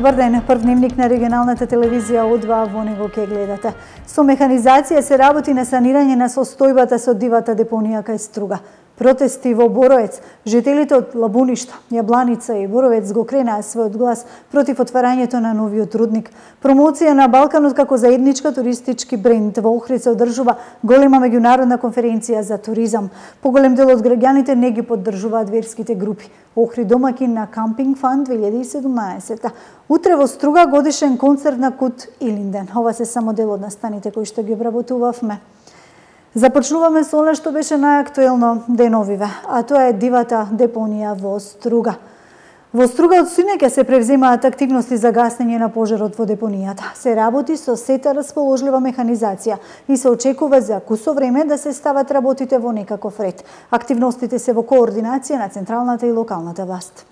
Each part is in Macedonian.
Добар ден, прв дневник на регионалната телевизија О2, во него ќе гледате. Со механизација се работи на санирање на состојбата со дивата депонија кај Струга. Протести во Боровец, жителите од Лабуништа, Јабланица и Боровец го кренаа својот глас против отварањето на новиот рудник. Промоција на Балканот како заедничка туристички бренд во Охрид се одржува голема меѓународна конференција за туризам. Поголем дел од граѓаните не ги поддржуваат верските групи. Охрид домакин на Кампинг Фан 2017. Утре во Струга годишен концерт на Кут Илинден. Ова се само дел од настаните кои што ги обработувавме. Започнуваме со она што беше најактуелно деновиве, а тоа е дивата депонија во Струга. Во Струга од синоќа се превземаат активности за гасење на пожарот во депонијата. Се работи со сета расположлива механизација и се очекува за кусо време да се стават работите во некаков ред. Активностите се во координација на централната и локалната власт.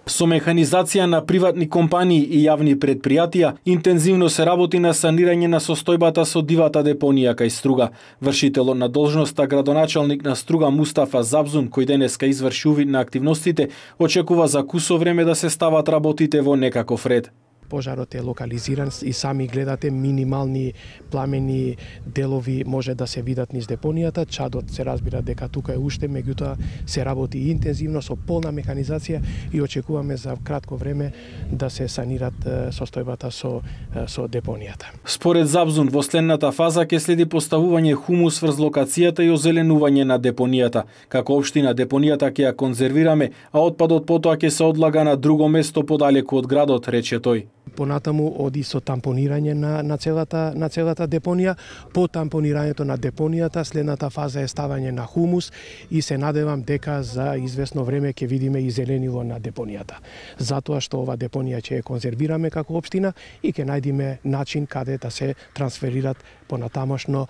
Со механизација на приватни компании и јавни предпријатија, интензивно се работи на санирање на состојбата со дивата депонија кај Струга. Вршителот на должноста градоначалник на Струга Мустафа Забзун, кој денеска изврши увид на активностите, очекува за кусо време да се стават работите во некаков ред. Пожарот е локализиран и сами гледате минимални пламени делови може да се видат низ депонијата. Чадот се разбира дека тука е уште, меѓутоа се работи интензивно со полна механизација и очекуваме за кратко време да се санират состојбата со депонијата. Според Забзун, во следната фаза ќе следи поставување хумус врз локацијата и озеленување на депонијата. Како општина депонијата ќе ја конзервираме, а отпадот потоа ќе се одлага на друго место подалеку од градот, рече тој. Понатаму оди со тампонирање на целата депонија. По тампонирањето на депонијата, следната фаза е ставање на хумус и се надевам дека за известно време ќе видиме и зеленило на депонијата. Затоа што ова депонија ќе ја конзервираме како општина и ќе најдеме начин каде да се трансферират понатамошно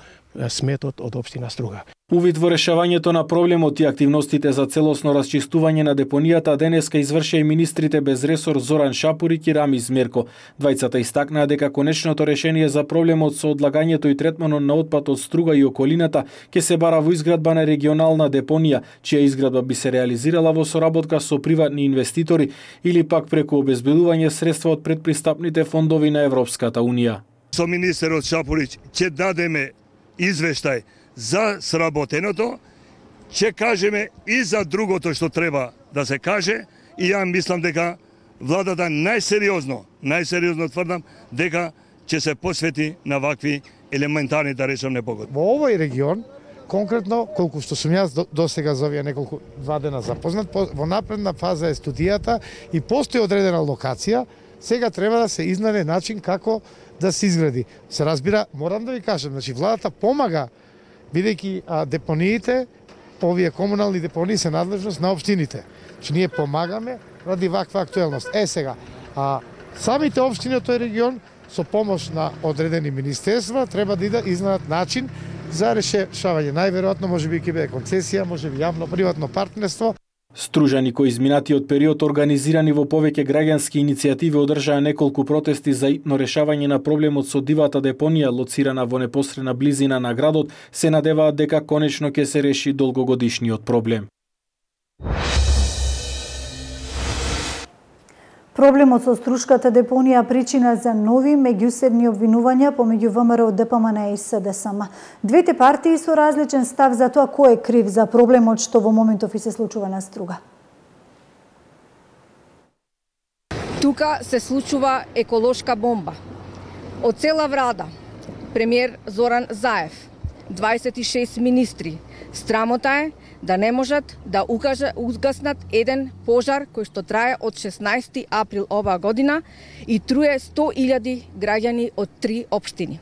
сметот од општина Струга. Увид во решавањето на проблемот и активностите за целосно расчистување на депонијата денеска извршија и министрите без ресор Зоран Шапурик и Рамиз Мерко. Двајцата истакнаа дека конечното решение за проблемот со одлагањето и третманот на отпад од Струга и околината ќе се бара во изградба на регионална депонија, чија изградба би се реализирала во соработка со приватни инвеститори или пак преку обезбедување средства од предпристапните фондови на Европската Унија. Со министерот Шапурич ќе дадеме извештај за сработеното, ќе кажеме и за другото што треба да се каже и ја мислам дека владата најсериозно тврдам дека ќе се посвети на вакви елементарни, да речем, непогоди. Во овој регион, конкретно, колку што сум јас досега за овие два дена запознат, во напредна фаза е студијата и постои одредена локација, сега треба да се изнајде начин како да се изгради. Се разбира, морам да ви кажам, значи владата помага, бидејќи депониите, овие комунални депонии се надлежност на општините. Значи ние помагаме ради ваква актуелност. Сега, самите општини од тој регион со помош на одредени министерства треба да изнајдат начин за решавање. Најверојатно можеби ќе биде концесија, можеби јавно-приватно партнерство. Стружани кои изминатиот период организирани во повеќе граѓански иницијативи одржаа неколку протести за итно решавање на проблемот со дивата депонија лоцирана во непосредна близина на градот, се надеваат дека конечно ќе се реши долгогодишниот проблем. Проблемот со Струшката депонија причина за нови меѓуседни обвинувања помеѓу ВМРО, ДПМН и СДСМ. Двете партии со различен став за тоа кој е крив за проблемот што во моментов и се случува на Струга. Тука се случува еколошка бомба. Од цела влада, премиер Зоран Заев, 26 министри, страмота е да не можат да угаснат еден пожар кој што трае од 16 април оваа година и труе 100.000 граѓани од 3 општини.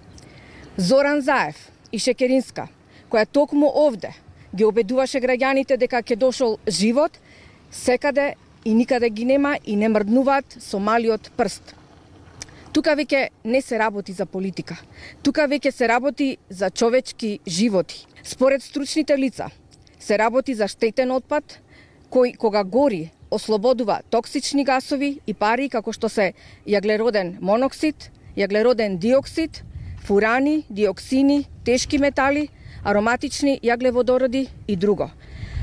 Зоран Заев и Шекеринска, која токму овде ги обедуваше граѓаните дека ќе дошол живот, секаде и никаде ги нема и не мрднуваат со малиот прст. Тука веќе не се работи за политика. Тука веќе се работи за човечки животи. Според стручните лица, се работи за штетен отпад, кој кога гори ослободува токсични гасови и пари како што се јаглероден моноксид, јаглероден диоксид, фурани, диоксини, тешки метали, ароматични јаглеводороди и друго.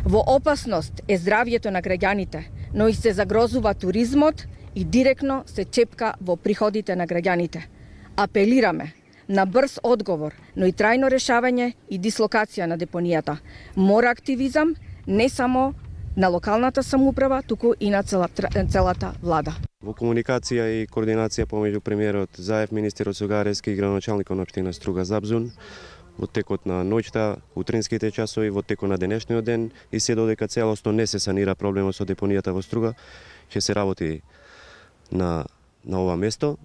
Во опасност е здравјето на граѓаните, но и се загрозува туризмот и директно се чепка во приходите на граѓаните. Апелираме на брз одговор, но и трајно решавање и дислокација на депонијата. Мора активизам не само на локалната самоуправа, туку и на целата влада. Во комуникација и координација помеѓу премиерот Заев, министерот Согарески и градоначалникот на општина Струга Запзун, во текот на ноќта, утринските часови, во текот на денешниот ден и се додека целосно не се санира проблемот со депонијата во Струга, ќе се работи на ова место.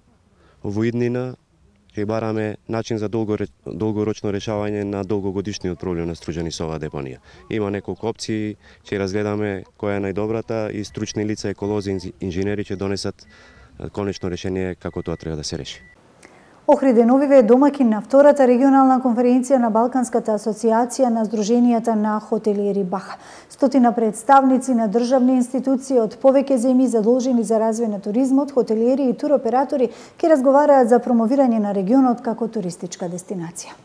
Во иднина ќе бараме начин за долгорочно решавање на долгогодишниот проблем на Стружани со оваа депонија. Има неколку опции, ќе разгледаме која е најдобрата и стручни лица, еколози, инженери ќе донесат конечно решение како тоа треба да се реши. Охрид Новиве е домакин на втората регионална конференција на Балканската асоциација на Сдруженијата на хотелиери Баха. Стотина представници на државни институции од повеќе земји задолжени за развој на туризмот, хотелиери и туроператори ќе разговараат за промовирање на регионот како туристичка дестинација.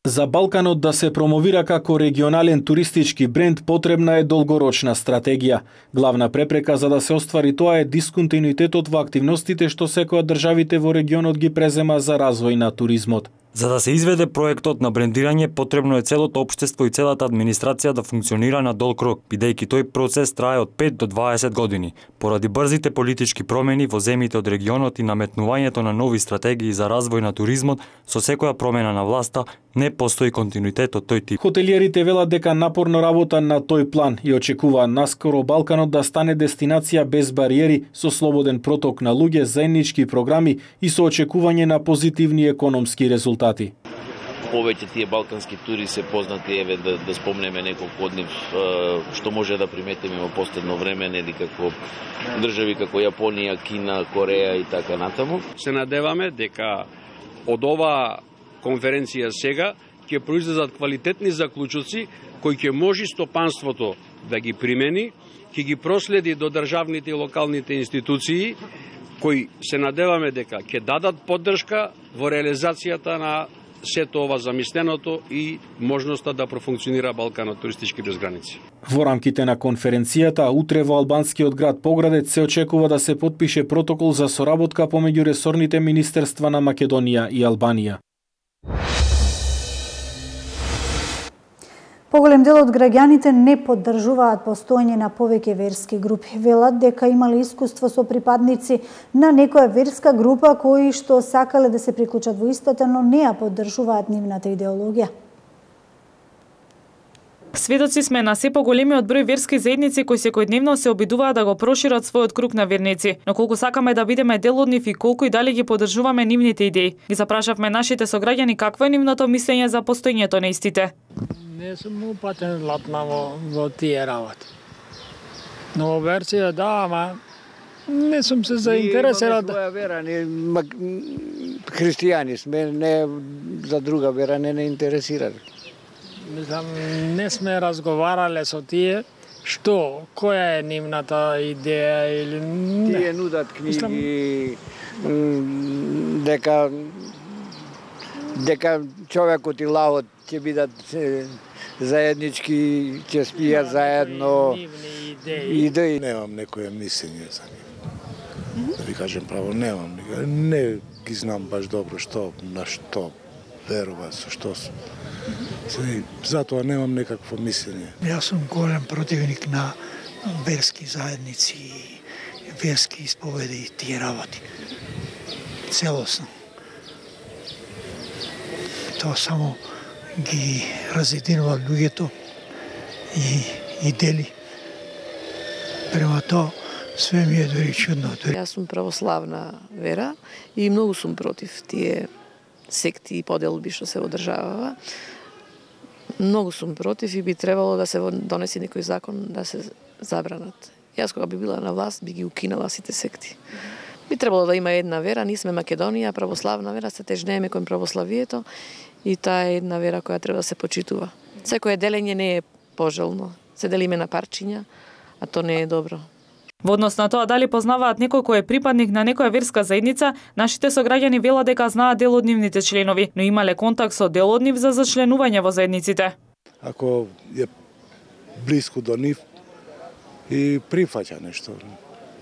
За Балканот да се промовира како регионален туристички бренд потребна е долгорочна стратегија. Главна препрека за да се оствари тоа е дисконтинуитетот во активностите што секоја државите во регионот ги презема за развој на туризмот. За да се изведе проектот на брендирање, потребно е целото општество и целата администрација да функционира на долг рок, бидејќи тој процес трае од 5 до 20 години. Поради брзите политички промени во земјите од регионот и наметнувањето на нови стратегии за развој на туризмот, со секоја промена на власта не постои континуитет од тој тип. Хотелиерите велат дека напорно работа на тој план и очекуваат наскоро Балканот да стане дестинација без бариери, со слободен проток на луѓе, заеднички програми и со очекување на позитивни економски резултати. Повеќе тие балкански тури се познати, еве да спомнеме неколку од нив што може да приметиме во последно време, нели како држави како Јапонија, Кина, Кореја и така натаму. Се надеваме дека од ова конференција сега ќе произлезат квалитетни заклучоци кои ќе може стопанството да ги примени, ќе ги проследи до државните и локалните институции кои се надеваме дека ќе дадат поддршка во реализацијата на сето ова замисленото и можноста да профункционира Балканот туристички без граници. Во рамките на конференцијата, утре во албанскиот град Поградец се очекува да се потпише протокол за соработка помеѓу ресорните министерства на Македонија и Албанија. Поголем дел од граѓаните не поддржуваат постоење на повеќе верски групи. Велат дека имале искуство со припадници на некоја верска група кои што сакале да се приклучат во истата, но не ја поддржуваат нивната идеологија. Сведоци сме на се поголемиот број верски заедници кои секојдневно се обидуваат да го прошират својот круг на верници, но колку сакаме да бидеме дел од нив и колку и дали ги поддржуваме нивните идеи. Ги запрашавме нашите сограѓани какво е нивното мислење за постоењето на истите. Не сум упатен латна во тие работи. Но версија да, ама не сум се заинтересирал. Ние имаме своја вера, христијани сме, не за друга вера не интересирали. Мислам, не сме разговарале со тие, што, која е нивната идеја или не. Тие нудат книги, дека човекот и лавот ќе бидат заеднички, ќе спијат заедно. Идеи. Немам некоја мислење за нив. Да ви кажем право, немам. Не ги знам баш добро што, на што верува, со што сум. Затоа немам некакво мислење. Јас сум голем противник на верски заедници, верски исповеди и тие работи. Целосно. Тоа само ги разединува луѓето и дели. Према тоа све ми е дори чудно. Јас сум православна вера и многу сум против тие секти и поделби што се одржаваа. Многу сум против и би требало да се донеси некој закон да се забранат. Јас кога би била на власт би ги укинала сите секти. Би требало да има една вера, ние сме Македонија, православна вера, се тежнееме кон православието и таа е една вера која треба да се почитува. Секое делење не е пожелно. Се делиме на парчиња, а то не е добро. Во однос на тоа дали познаваат некој кој е припадник на некоја верска заедница, нашите сограѓани велат дека знаат дел од нивните членови, но имале контакт со дел од нив за зачленување во заедниците. Ако е блиску до нив и прифаќа нешто,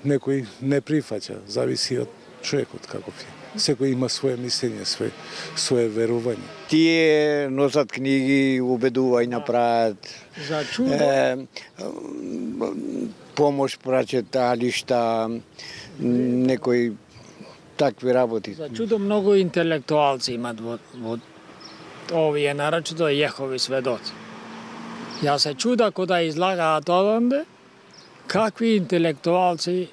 некој не прифаќа, зависи од човекот каков е. Секој има свое мислење, свое верување. Тие носат книги, убедувања прават. За чудо. Помош праќат алишта, некои такви работи. За чудо многу интелектуалци имат во овие, нарочито Јехови сведоци. Ја се чуда кога излагаат одонде, какви интелектуалци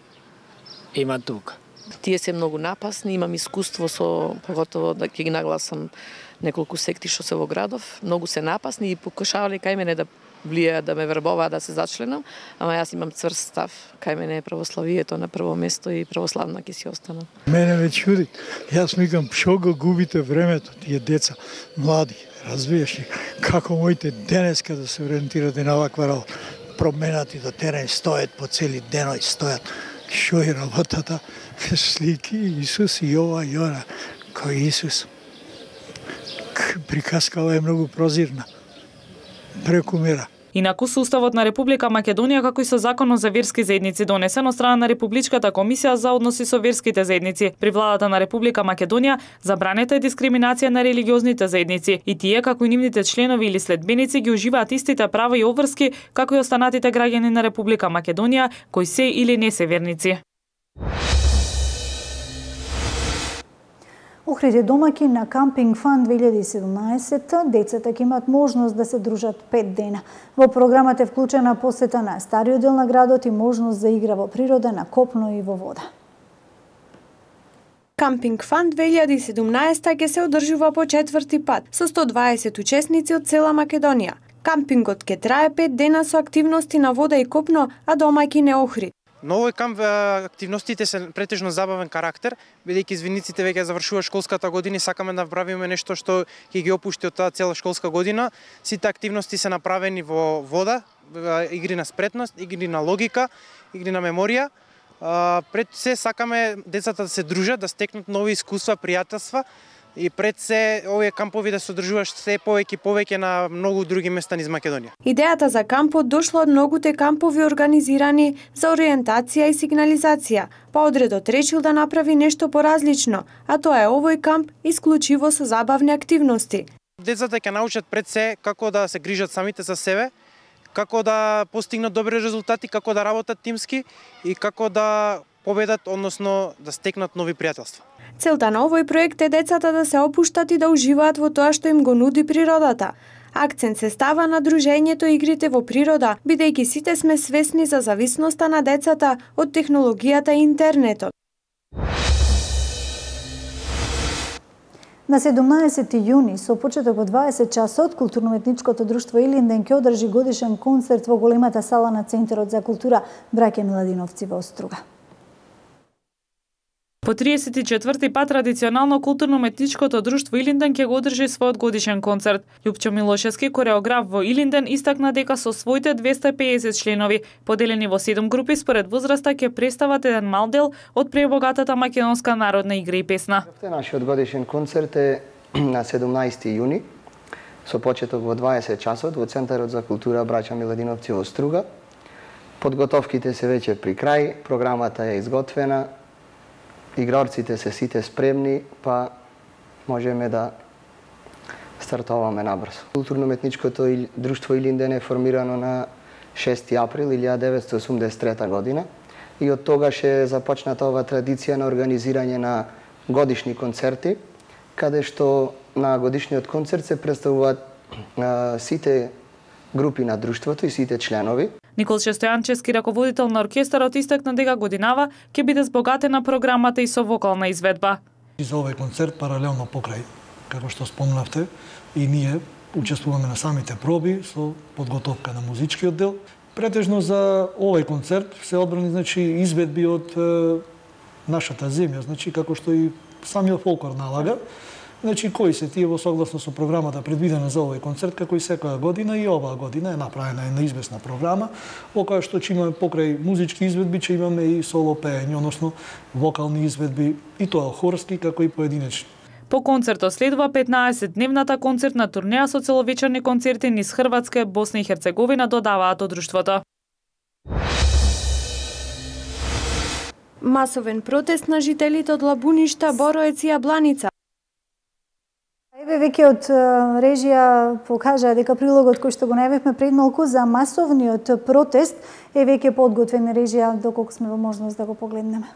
имат тука. Тие се многу напасни, имам искуство со, поготово да ќе ги нагласам неколку секти што се во градов, многу се напасни и покушавале кај мене да влијаат да ме вербуваат да се зачленам, ама јас имам цврст став, кај мене е православието на прво место и православна ќе си останам. Мене ме чуди, јас микам што го губите времето, тие деца, млади, разбираш ли, како моите денеска да се ориентирате на оваква работа, променати до терен, стоят по цели деној, стоят, што е работата, слики Исус и ова и она, кој Исус. Приказкава е многу прозирна, преку мера. Инаку со Уставот на Република Македонија, како и со Законот за верски заедници донесен од страна на Републичката комисија за односи со верските заедници, при владата на Република Македонија забранета е дискриминација на религиозните заедници и тие, како и нивните членови или следбеници, ги уживаат истите права и обврски како и останатите граѓани на Република Македонија кои се или не се верници. Охрид домаќин на Кампинг Фан 2017, децата ќе имат можност да се дружат 5 дена. Во програмата е вклучена посета на стариот дел на градот и можност за игра во природа, на копно и во вода. Кампинг Фан 2017 ќе се одржува по 4-ти пат со 120 учесници од цела Македонија. Кампингот ќе трае 5 дена со активности на вода и копно, а домаќин е Охрид. На овој камп активностите се претежно забавен карактер, бидејќи извиниците веќе завршува школската година и сакаме да направиме нешто што ќе ги опушти од таа цела школска година. Сите активности се направени во вода, игри на спретност, игри на логика, игри на меморија. Пред се сакаме децата да се дружат, да стекнат нови искуства, пријателства и пред се овие кампови да се одржуваш се повеќе на многу други места низ Македонија. Идејата за кампот дошла од многуте кампови организирани за ориентација и сигнализација, па одредот решил да направи нешто поразлично, а тоа е овој камп исклучиво со забавни активности. Децата ќе научат пред се како да се грижат самите за себе, како да постигнат добри резултати, како да работат тимски и како да победат, односно да стекнат нови пријателства. Целта на овој проект е децата да се опуштат и да уживаат во тоа што им го нуди природата. Акцент се става на дружењето и игрите во природа, бидејќи сите сме свесни за зависноста на децата од технологијата и интернетот. На 17 јуни, со почеток во 20 часот, Културно-уметничкото друштво Илинден ќе одржи годишен концерт во големата сала на Центарот за култура Браќа Миладиновци во Оструга. По 34-ти пат традиционално Културно-уметничкото друштво Илинден ќе го одржи својот годишен концерт. Љупчо Милошевски, кореограф во Илинден, истакна дека со своите 250 членови, поделени во 7 групи според возраста, ќе представат еден мал дел од пребогатата македонска народна игра и песна. Нашиот годишен концерт е на 17 јуни, со почеток во 20 часот во Центарот за култура Браќа Миладиновци во Оструга. Подготовките се веќе при крај, програмата е изготвена, играрците се сите спремни, па можеме да стартуваме набрзо. Културно-уметничкото друштво Илинден е формирано на 6 април 1983 година и од тогаш е започната ова традиција на организирање на годишни концерти, каде што на годишниот концерт се представуваат сите групи на друштвото и сите членови. Николче Стојанчевски, раководител на оркестарот, истакна дека годинава ќе биде збогатена програмата и со вокална изведба. За овој концерт паралелно покрај, како што спомнавте, и ние учествуваме на самите проби со подготовка на музичкиот дел. Претежно за овој концерт се одбрани изведби од нашата земја, како што и самиот фолклор налага. Кои се тие во согласно со програмата предвидена за овој концерт, како и секоја година, и оваа година е направена една известна програма, во која што ќе имаме покрај музички изведби, ќе имаме и соло пеење, односно вокални изведби, и тоа хорски, како и поединечни. По концертот следува 15-дневната концертна турнеја со целовечерни концерти низ Хрватска, Босна и Херцеговина, додаваат од друштвото. Масовен протест на жителите од Лабуништа, Бороец и Јабланица. Еве веќе од режија покажа дека прилогот кој што го најавивме пред малку за масовниот протест е веќе подготвен. Режија, доколку сме во можност да го погледнеме.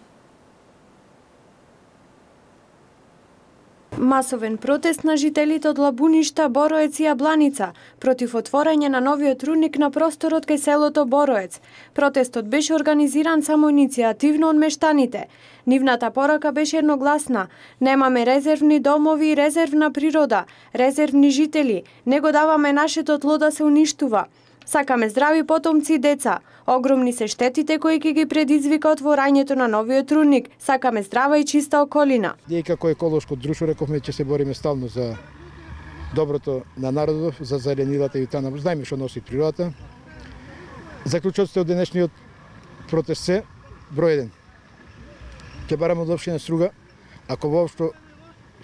Масовен протест на жителите од Лабуништа, Бороец и Јабланица против отворање на новиот рудник на просторот кај селото Бороец. Протестот беше организиран самоиницијативно од мештаните. Нивната порака беше едногласна. Немаме резервни домови и резервна природа, резервни жители. Не го даваме нашето тло да се уништува. Сакаме здрави потомци и деца. Огромни се штетите кои ќе ги предизвика отворањето на новиот рудник. Сакаме здрава и чиста околина. Ние како еколошко друштво рековме ќе се бориме стално за доброто на народот, за зеленилата и таа. Знаеме што носи природата. Заклучоците од денешниот протест се број 1. Ќе бараме од општина Струга, ако воопшто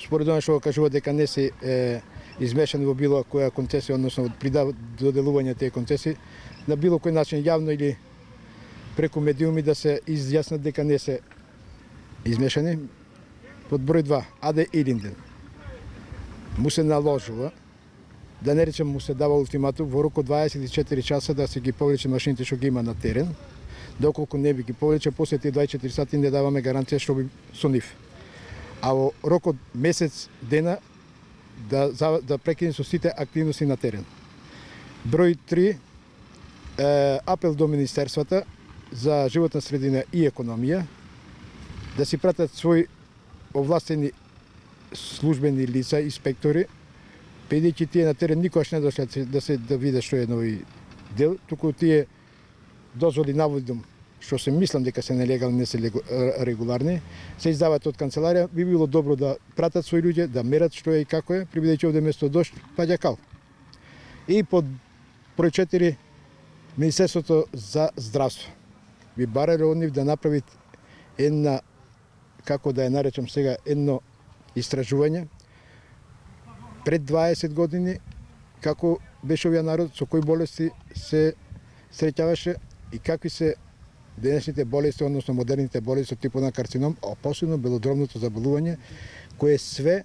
според она што кажува дека не се измешани во било која концесија, односно при доделување тие концесии, на било кој начин јавно или преку медиуми да се изјаснат дека не се измешани. Под број 2, Аде Илинден му се наложува, да не речем му се дава ултиматум во рок од 24 часа да се ги повлече машините што ги има на терен. Доколку не би ги повлече, после тие 24 сати не даваме гаранција што би со нив. А во рок од месец дена да прекине со сите активности на терен. Број 3, апел до министерствата за животна средина и економија да си пратат своји овластени службени лица, инспектори, бидејќи тие на терен никогаш не дошле да видат што е нови дел, туку тие дозволи наводом што се мислам дека се нелегални, не се регуларни, се издаваат од канцеларија. Би било добро да пратат своји луѓе, да мерат што е и како е, бидејќи овде место дожд паѓа кал. И под број 4, Министерството за здравство би барале од нив да направит една, како да ја наречам сега, едно истражување пред 20 години како беше овој народ, со кои болести се среќаваше и какви се денешните болести, односно модерните болести од типот на карцином, а посебно белодробното заболување, кое све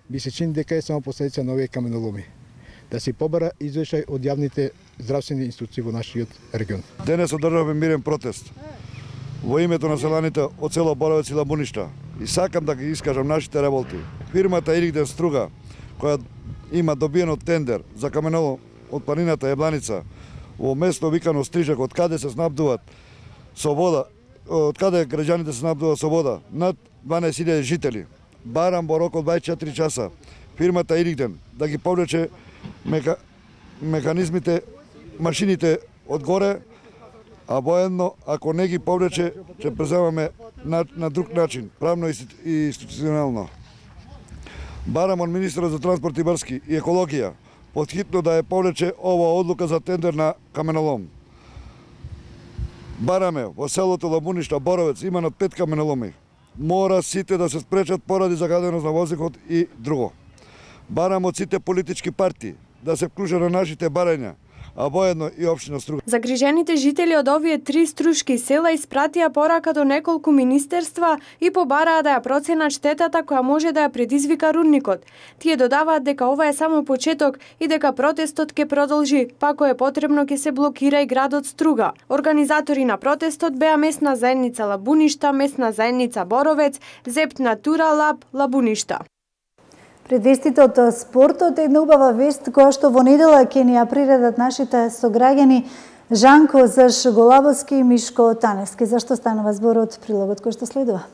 би се чини дека е само последица на овие каменоломи. Да се побара извештај од јавните здравствени институции во нашиот регион. Денес одржаваме мирен протест во името на селаните од село Боровец и Лабуништа. И сакам да ги искажам нашите револти. Фирмата Илинден Струга, која има добиено тендер за каменолом од планината Јабланица, во место викано Стрижак, од каде се снабдуваат со вода, од каде граѓаните се снабдуваат со вода, над 12.000 жители. Барам во рок од 24 часа фирмата Илинден да ги повлече механизмите, машините одгоре, а воедно, ако не ги повлече, ќе преземаме на друг начин, правно и институционално. Барам од министерот за транспорт и врски и екологија подхитно да ја повлече ова одлука за тендер на каменолом. Бараме во селото Лабуништа, Боровец, има над 5 каменоломи. Мора сите да се спречат поради загаденост на воздухот и друго. Барам од сите политички партии да се вклучат на нашите барања, а воедно и општина Струга. Загрижените жители од овие 3 струшки села испратија порака до неколку министерства и побараа да ја проценат штетата која може да ја предизвика рудникот. Тие додаваат дека ова е само почеток и дека протестот ќе продолжи, па ако е потребно ќе се блокира и градот Струга. Организатори на протестот беа местна заедница Лабуништа, местна заедница Боровец, Зепт Натура Лаб Лабуништа. Пред вестите од спортот, една убава вест која што во недела ќе ни ја приредат нашите сограѓани Жанко Заш Голабовски и Мишко Таневски. Зашто станува зборот, прилогот кој што следува?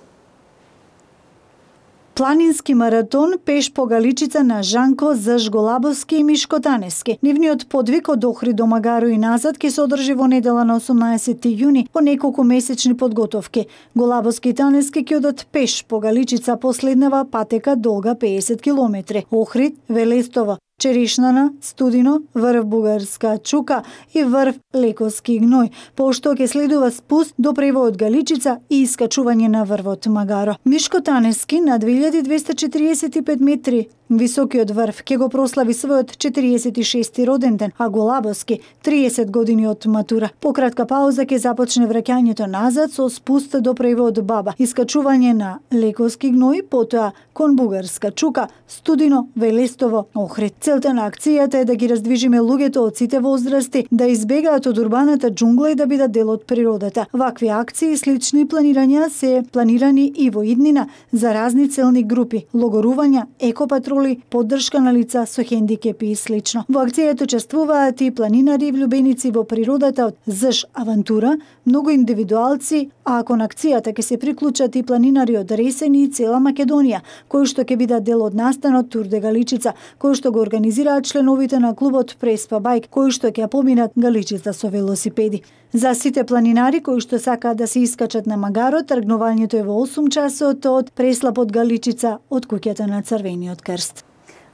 Планински маратон пеш по Галичица на Жанко Заш Голабовски и Мишко Таневски. Нивниот подвиг од Охрид до Магаро и назад ќе се одржи во недела на 18 јуни по неколку месечни подготовки. Голабовски и Таневски ќе одат пеш по Галичица последнава патека долга 50 километри. Охрид, Велестово, Черишнана, Студино, врв Бугарска Чука и врв Лекоски Гној, пошто ќе следува спуст до превојот Галичица и искачување на врвот Магаро. Мишко Таневски на 2245 метри Високиот врв ќе го прослави својот 46-ти роден ден, а Голабовски 30 години од матура. По кратка пауза ќе започне враќањето назад со спуст до превод баба, искачување на лековски гној, потоа кон бугарска чука, Студино, Велестово, Охрид. Целта на акцијата е да ги раздвижиме луѓето од сите возрасти, да избегаат од урбаната џунгла и да бидат дел од природата. Вакви акции и слични планирања се планирани и во иднина за разни целни групи, логорувања, екопатроли, поддршка на лица со хендикепи и слично. Во акцијата учествуваат и планинари и влюбеници во природата од ЗШ Авантура, многу индивидуалци, а кон акцијата ќе се приклучат и планинари од Ресени и цела Македонија, кои што ќе бидат дел од настанот Тур де Галичица, кои што го организираат членовите на клубот Преспа Байк, кои што ќе поминат Галичица со велосипеди. За сите планинари кои што сакаат да се искачат на магарот, тргнувањето е во 8 часот од Преслап Галичица од куќата на Црвениот крст.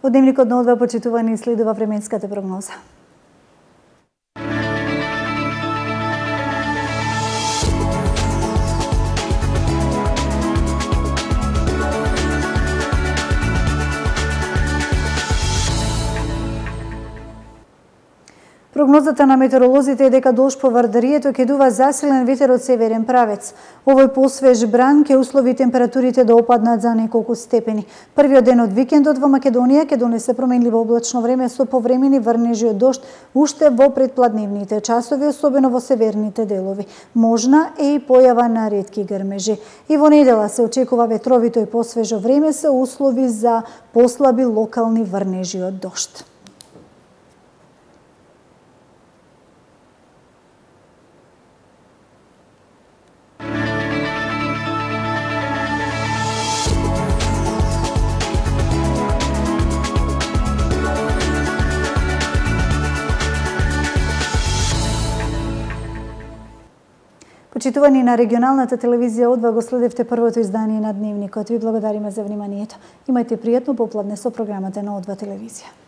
Од дневникот на Одва, почитувани, следува временската прогноза. Прогнозата на метеоролозите е дека дожд по Вардарието ќе дува засилен ветер од северен правец. Овој посвеж бран ќе услови температурите да опаднат за неколку степени. Првиот ден од викендот во Македонија ќе донесе променливо облачно време со повремени врнежи од дожд уште во предпладневните часови, особено во северните делови. Можна е и појава на ретки грмежи. И во недела се очекува ветровито и посвежо време се услови за послаби локални врнежи од дожд. Почитувани, на регионалната телевизија Одва го следевте првото издание на Дневникот. Ви благодариме за вниманието. Имајте пријатно попладне со програмата на Одва телевизија.